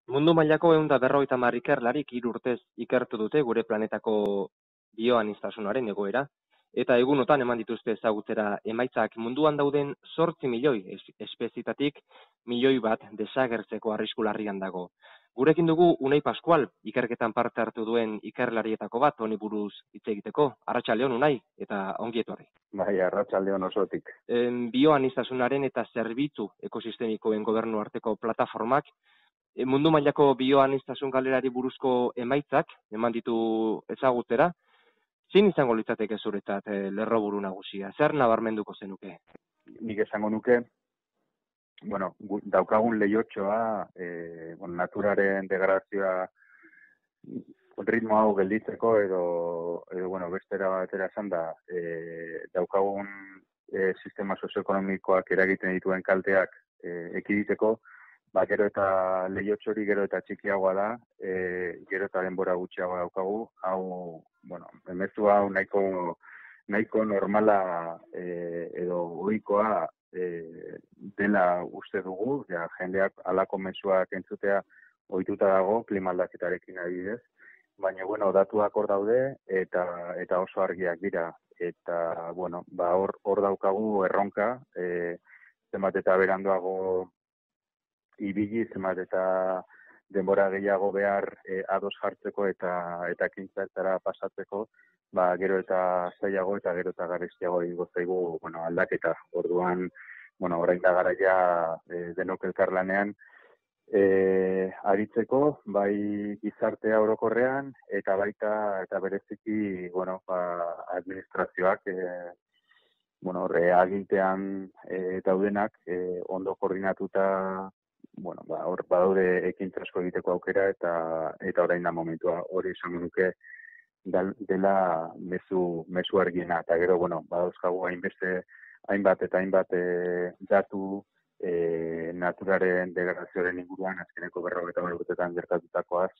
Mundu mailako 150 ikerlarik 3 urtez ikertu dute gure planetako bioaniztasunaren egoera, eta egunotan eman dituzte ezagutzera emaitzak munduan dauden 8 milioi espezietatik milioi bat desagertzeko arrisku larrian dago. Gurekin dugu Unai Pascual, ikerketan parte hartu duen ikerlarietako bat honi buruz hitz egiteko. Arratsaldeon Unai, eta ongi etorri. Bai, arratsaldeon osotik. Bioaniztasunaren eta zerbitzu ekosistemikoen gobernu arteko plataformak mundu mailako bioaniztasun galerari buruzko emaitzak eman ditu ezagutzera. Zein izango litzateke zuretzat lerroburu nagusia? Zer nabarmenduko zenuke? Nik esango nuke, daukagun lehiotxoa, naturaren degradazioa ritmo hau gelditzeko edo bestera batera esan da, daukagun sistema sozioekonomikoak eragiten dituen kalteak ekiditeko, gero eta lehiotxori gero eta txikiagoa da, gero eta denbora gutxiagoa daukagu, hau, emezu hau nahiko normala edo ohikoa dela uste dugu, jendeak halako mezuak entzutea ohituta dago, klima aldaketarekin adibidez, baina, datuak hor daude eta oso argiak dira. Eta, hor daukagu erronka, zenbat eta beranduago ibili, zenbat eta denbora gehiago behar ados jartzeko eta ekintzetara pasatzeko, gero eta zailago eta gero eta garestiago egingo zaigu aldaketa. Orduan, orain da garaia denok elkarlanean aritzeko, bai gizartea orokorrean eta baita eta bereziki administrazioak agintean daudenak ondo koordinatuta hor badaude ekintza asko egiteko aukera eta orain da momentua hori esango nuke dela mezu argiena. Eta gero, badauzkagu hainbat datu naturaren degradazioaren inguruan, azkeneko 50 urtetan gertatutakoaz,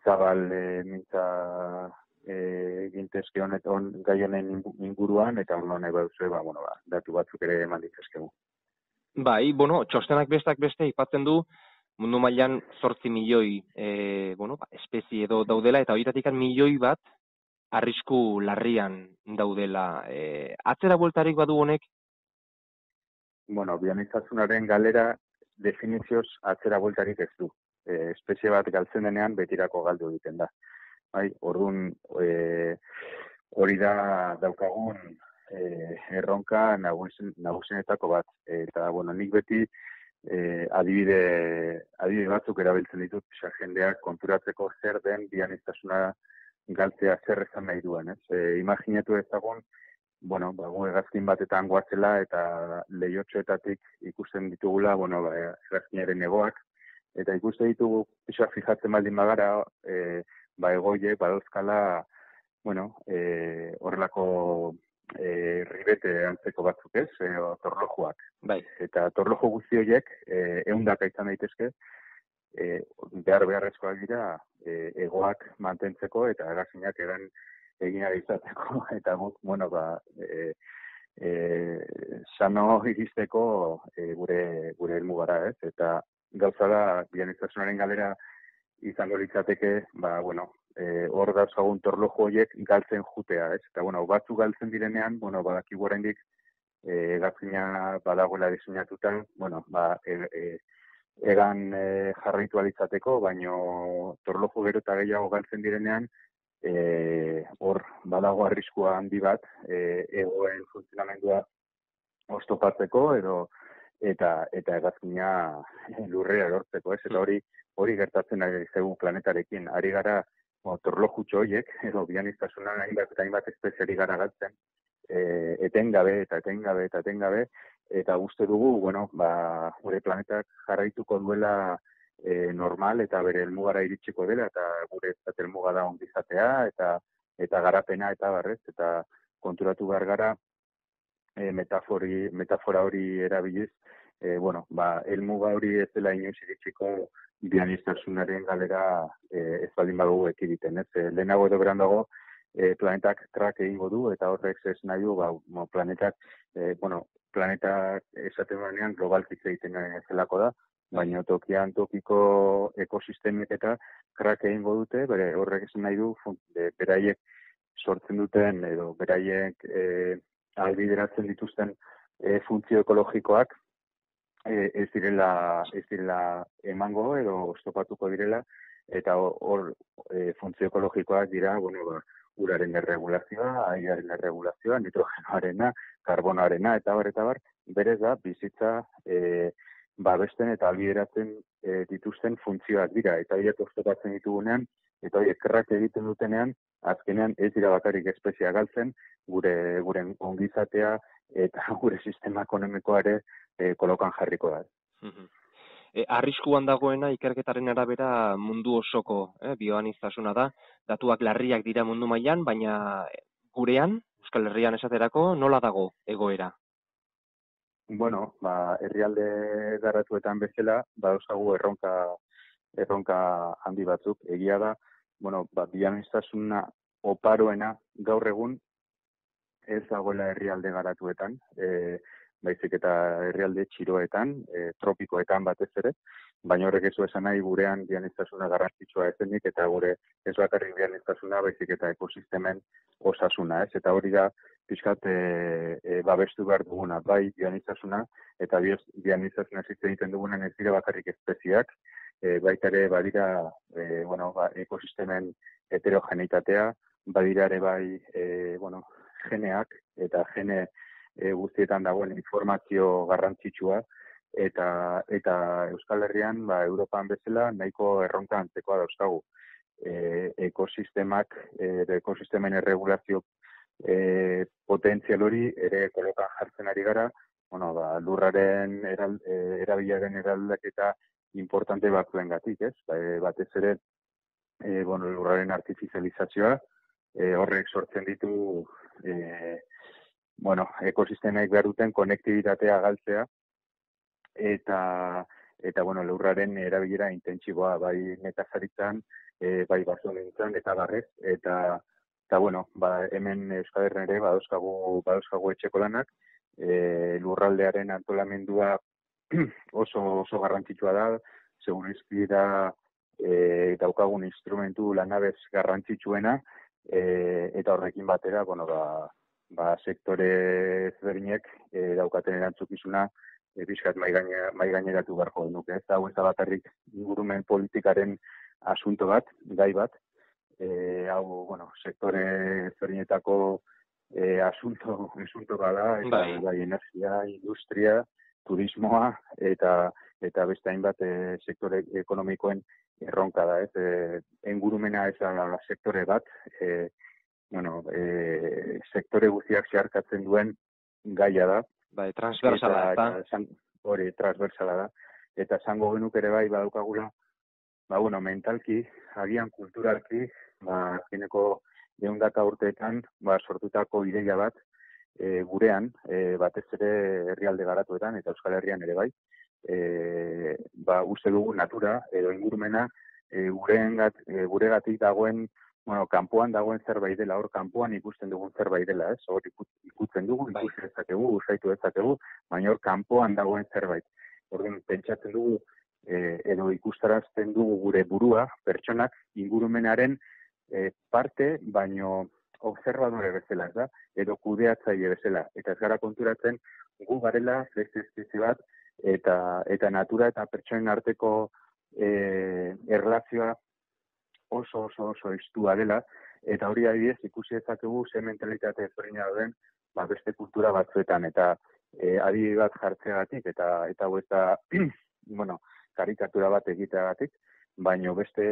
zabal mintza gintezke honetan gai honen inguruan, eta nahi baduzue, datu batzuk ere eman ditezkegu. Bai, txostenak bestak beste aipatzen du mundu mailan 8 milioi espezie edo daudela, eta horietatik milioi bat arrisku larrian daudela. Atzera bueltarik badu honek? Bioaniztasunaren galera definizioz atzera bueltarik ez du. Espezie bat galtzen denean betirako galdu egiten da. Orduan, hori da daukagun erronka nagusienetako bat. Eta, nik beti adibide batzuk erabiltzen ditut, jendeak konturatzeko zer den bioaniztasuna galtzea zer esan nahi duen. Imaginatu ezagun, gu hegazkin batetan goatzela eta lehiotxoetatik ikusten ditugula, hegazkinaren egoak, eta ikusten ditugu pixoa fijatzen baldin bagara, egoiek badauzkala, horrelako ribete antzeko batzuk ez, torlojuak. Bai. Eta torloju guzti horiek, ehundaka izan daitezke, beharrezkoak dira egoak mantentzeko eta hegazkinak egin ari izateko, eta guk, sano iristeko gure helmugara, ez? Eta gauza da, bioaniztasunaren galera izango litzateke, hor dauzkagun torloju horiek galtzen jutea, ez? Eta, batzuk galtzen direnean, badakigu oraindik hegazkina badagoela diseinatuta, egan jarraitu alitzateko, baino torloju gero eta gehiago galtzen direnean, hor badago arriskua handi bat egoen funtzionamendua oztopatzeko eta hegazkina lurrera erortzeko, ez? Eta hori gertatzen ari zaigu planetarekin. Ari gara torlojutxo horiek, edo bioaniztasunan hainbat espeziari gara galtzen, etengabe, eta uste dugu, gure planetak jarraituko duela normal eta bere helmugara iritsiko dela, eta gure helmuga da ongizatea, eta garapena, eta barrez, eta konturatu behar gara, metafora hori erabiliz, helmuga hori ez dela inoiz iritsiko bioaniztasunaren galera ez baldin badugu ekiditen, ez? Lehenago edo berandago, planetak krak egingo du, eta horrek ez nahi du, planetak esaten banean globalkitze egiten zelako da, baina tokian tokiko ekosistemek eta krak egingo dute, horrek esan nahi du, beraiek sortzen duten edo beraiek ahalbideratzen dituzten funtzio ekologikoak ez direla emango edo oztopatuko direla, eta hor funtzio ekologikoak dira, uraren erregulazioa, airearen erregulazioa, nitrogenoarena, karbonoarena, eta bar, berez da, bizitza babesten eta ahalbideratzen dituzten funtzioak dira, eta horiek oztopatzen ditugunean, eta horiek kerrak egiten dutenean, azkenean ez dira bakarrik espeziea galtzen, gure ongizatea eta gure sistema ekonomikoare kolokan jarriko da. Arriskuan dagoena ikerketaren arabera mundu osoko bioaniztasuna da. Datuak larriak dira mundu mailan, baina gurean, Euskal Herrian esaterako, nola dago egoera? Herrialde garatuetan bezala, dauzkagu erronka handi batzuk. Egia da, bioaniztasuna oparoena gaur egun ez dagoela herrialde garatuetan, baizik eta herrialde txiroetan, tropikoetan batez ere, baina horrek ez du esan nahi gurean bioaniztasuna garrantzitsua ezenik, eta gure ez bakarrik bioaniztasuna, baizik eta ekosistemen osasuna, ez? Eta hori da, pixkat babestu behar duguna, bai bioaniztasuna, eta bioaniztasuna egiten dugunan ez dira bakarrik espeziak, baita ere badira ekosistemen heterogeneitatea, badira ere bai geneak, eta gene guztietan dagoen informazio garrantzitsua, eta Euskal Herrian, Europan bezala, nahiko erronka antzekoa dauzkagu. Ekosistemen erregulazio potentzial hori ere kolokan jartzen ari gara, lurraren erabilaren eraldaketa importante batzuengatik, ez? Batez ere, lurraren artifizializazioa, horrek sortzen ditu ekosistemek behar duten konektibitatea galtzea, eta lurraren erabilera intentsiboa, bai nekazaritzan, bai basogintzan, eta barrez, eta hemen Euskal Herrian ere badauzkagu etxeko lanak, lurraldearen antolamendua oso garrantzitsua da, segurizki da daukagun instrumentu lanabez garrantzitsuena, eta horrekin batera, sektore ezberdinek daukaten erantzukizuna pixkat maigaineratu beharko genuke. Ez hau ez da bakarrik ingurumen politikaren asunto bat, gai bat, sektore ezberdinetako asunto bada, bai energia, industria, turismoa, eta beste hainbat sektore ekonomikoen erronka da, ez? Ingurumena ez da sektore bat, sektore guztiak zeharkatzen duen gaia da. Transversala da. Hori, transversala da. Eta esango genuk ere bai badaukagula, mentalki, agian kulturalki, azkeneko 100 urteetan sortutako ideia bat gurean, batez ere herrialde garatuetan, eta Euskal Herrian ere bai, uste dugu natura edo ingurumena guregatik dagoen, kanpoan dagoen zerbait dela, hor kanpoan ikusten dugun zerbait dela, ez? Hor ikusten dugu, ikusi dezakegu, usaitu dezakegu, baina hor kanpoan dagoen zerbait. Orduan pentsatzen dugu edo ikustarazten dugu gure burua, pertsonak, ingurumenaren parte, baino observadore bezala, ez da? Edo kudeatzaile bezala. Eta ez gara konturatzen gu garela beste espezie bat, eta natura eta pertsonen arteko erlazioa oso estua dela, eta hori adibidez ikusi dezakegu ze mentalitate ezberdina dauden beste kultura batzuetan, eta adibide bat jartzeagatik, eta hau ez da karikatura bat egiteagatik, baino beste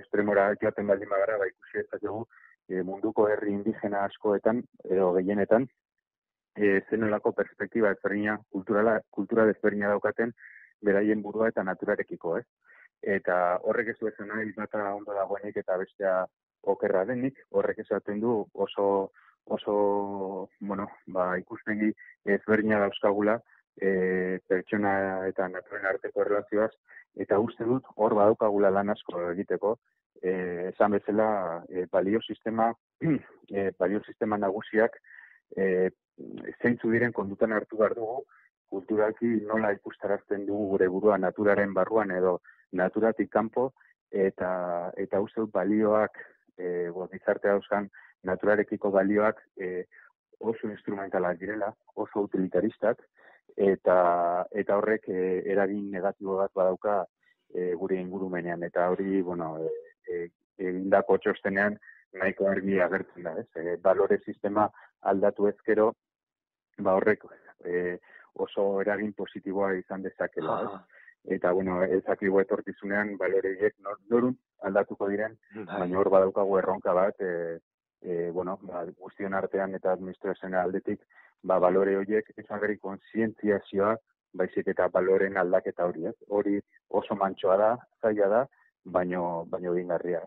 estremora joaten baldin bagara, ikusi dezakegu munduko herri indigena askoetan, edo gehienetan, zenolako perspektiba ezberdina, kultura ezberdina daukaten, beraien burua eta naturarekiko, ez? Eta horrek ez du esan nahi bata ondo dagoenik eta bestea okerra denik, horrek esaten du oso ikuspegi ezberdina dauzkagula pertsona eta naturen arteko erlazioaz, eta uste dut hor badaukagula lan asko egiteko, esan bezala baliosistema nagusiak zeintzu diren kondutan hartu behar dugu kulturalki nola ikustarazten dugu gure burua naturaren barruan edo naturatik kanpo, eta uste dut balioak, gizartea dauzkan naturarekiko balioak oso instrumentalak direla, oso utilitaristak, eta horrek eragin negatibo bat badauka gure ingurumenean, eta hori, egindako txostenean nahiko argi agertzen da, ez? Balore sistema aldatu ezkero, horrek oso eragin positiboa izan dezakela, ez? Eta, ezakigu etorkizunean baloreiek norun aldatuko diren, baina hor badaukagu erronka bat, guztion artean eta administrazioen aldetik, balore horiek ezagri kontzientziazioa, baizik eta baloren aldaketa hori, ez? Hori oso mantsoa da, zaila da, baino egingarria.